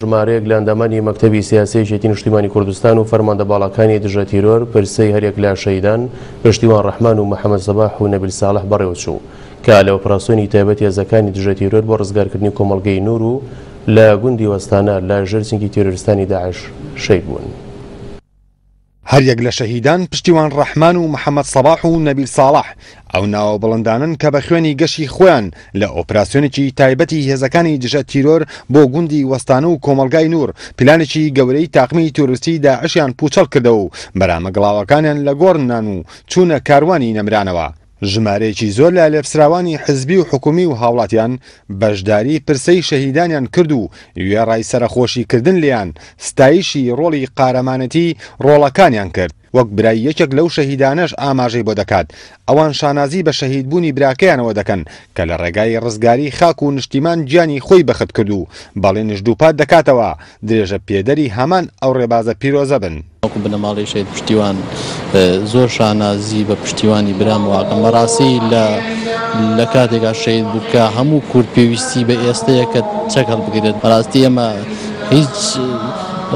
ژمارەیەک لە ئەندامانی مەکتەبی سیاسی یەکێتی نیشتیمانی کوردستان و فەرماندە باڵاکانی دژە تیرۆر پرسەی هەریەک لە شەهیدان پشتیوان ڕەحمان و محەمەد سەباح و نەبیل ساڵح بەڕێوەچوو کە لە ئۆپراسیۆنی تایبەت هێزەکانی دژە تیرۆر بۆ ڕزگارکردنی کۆمەڵگەی نور و لە گوندی وەستانە لە ژێر چنگی تیرۆریستانی داعش شەهید بوون. هەریەک لە شەهیدان پشتیوان ڕەحمان و محەمەد سەباح و نەبیل ساڵح ئەو ناوە بڵندانەن کە بە خوێنی گەشی خۆیان لە ئۆپراسیۆنێکی تایبەتی هێزەکانی دژە تیرۆر بۆ گوندی وەستانە و کۆمەڵگای نوور پلانێکی گەورەی تاقمی تیرۆریستی داعشیان پووچەڵ کردەوە و مەرامە گڵاوەکانیان لە گۆڕ نان و چوونە کاروانی نەمرانەوە. ژمارەیەکی زۆر لە لێپسراوانی حزبی و حکومی و هاوڵاتیان بەشداری پرسەی شەهیدانیان کرد و وێڕای سەرەخۆشی کردن لێیان ستایشی ڕۆڵی قارەمانێتی ڕۆڵەکانیان کرد، وەک برای یەکێک لەو شەهیدانەش ئاماژەی بۆ دەکات ئەوان شانازی بە شەهیدبوونی براکەیانەوە دەکەن کە لە ڕێگای ڕزگاری خاک و نشتیمان گیانی خۆی بەخت کرد و بەڵێنیش دووپات دەکاتەوە درێژە پێدەری هەمان ئەو ڕێبازە پیرۆزە بن. وەکو بنەماڵەی شەهید پشتیوان زۆر شانازی بە پشتیوانی برام واکەم بەڕاستی لە لە کاتێکا شەهید بوو کە هەموو کورد پێویستی بە ئێستەیە کە چەک هەڵبگرێت بەڕاستی ئێمە هیچ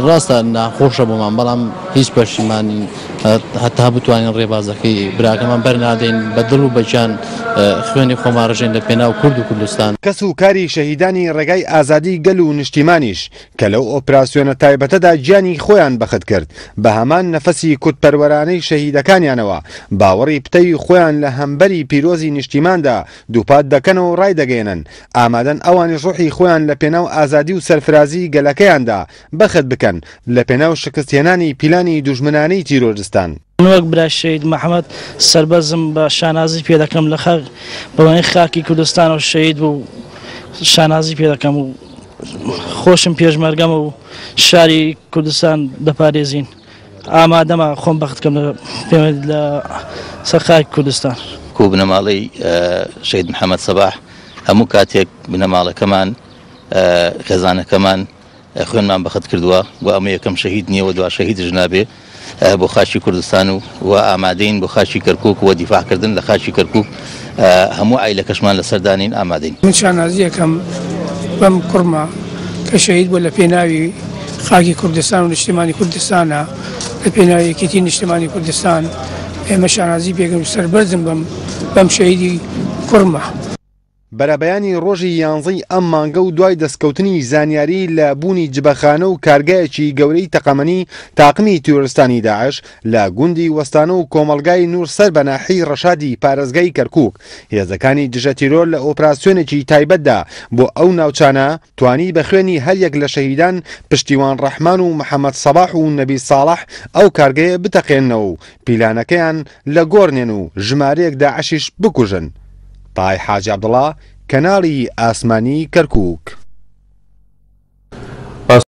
ڕاستە ناخۆشە بۆمان بەڵام هیچ پەشیمانین هەتا بتوانین ڕێبازەکەی براکەمان بەرنادەین بە دڵ و بەگیان خوێنی خۆمان ڕژێن لە پێناو کورد و کوردستان. کەس و کاری شەهیدانی ڕێگای ئازادی گەل و نیشتیمانیش کە لەو ئۆپراسیۆنە تایبەتەدا گیانی خۆیان بەخت کرد، بە هەمان نەفەسی کوردپەروەرانەی شەهیدەکانیانەوە، باوەڕی پتەوی خۆیان لە هەمبەری پیرۆزی نیشتیماندا دووپات دەکەنەوە و ڕایدەگەیەنن، ئامادەن ئەوانیش ڕۆحی خۆیان لە پێناو ئازادی و سەرفرازیی گەلەکەیاندا بەخت بکەن، لە پێناو شکستهێنانی پیلانی دوژمنانەی تیرۆرستان. من وەک برای شەهید محەمەد سەربەرزم بە شانازی پێ دەکەم لە خاک بەوەی خاکی کوردستانەوە شەهید بوو شانازی پێ دەکەم و خۆشم پێشمەرگەمە و شاری کوردستان دەپارێزین ئامادەمە خۆم بەخت کەم لە سەر خاکی کوردستان. کو بنەماڵەی شەهید محەمەد سەباح هەموو کاتێک بنەماڵەکەمان خێزانەکەمان خوێنمان بەخت کردووە و ئەمە یەکەم شەهید نییە و دوا شەهیدش نابێ بۆ خاکی کوردستان و و ئامادەین بۆ خاکی کەرکوک و دیفاع کردن لە خاکی کەرکوک هەموو عایلەکەشمان لەسەر دانین ئامادەین. من شانازی ئەکەم بەم کوڕمە کە شەهید بووە لە پێناوی خاکی کوردستان و نیشتیمانی کوردستانە لە پێناوی یەکێتی نیشتیمانی کوردستان ئێمە شانازی پێکەین و سەربەرزم بەم بەم شەهیدی کوڕمە. بەرەبەیانی ڕۆژی یانزەی ئەم مانگە و دوای دەستکەوتنی زانیاری لە بوونی جبەخانە و کارگایەکی گەورەی تەقەمەنی تاقمی تیرۆرستانی داعش لە گوندی وەستانە و کۆمەڵگای نوور سەر بە ناحیەی ڕەشادی پارێزگای کەرکووک هێزەکانی دژە تیرۆر لە ئۆپراسیۆنێکی تایبەتدا بۆ ئەو ناوچانە توانی بە خوێنی هەریەک لە شەهیدان پشتیوان ڕەحمان و محەمەد سەباح و نەبیل ساڵح ئەو کارگەیە بتەقێننەوە و پیلانەکەیان لە گۆڕنێن و ژمارەیەک داعشیش بکوژن. تای حاجی عەبدوڵا، کەناڵی ئاسمانی کەرکووک.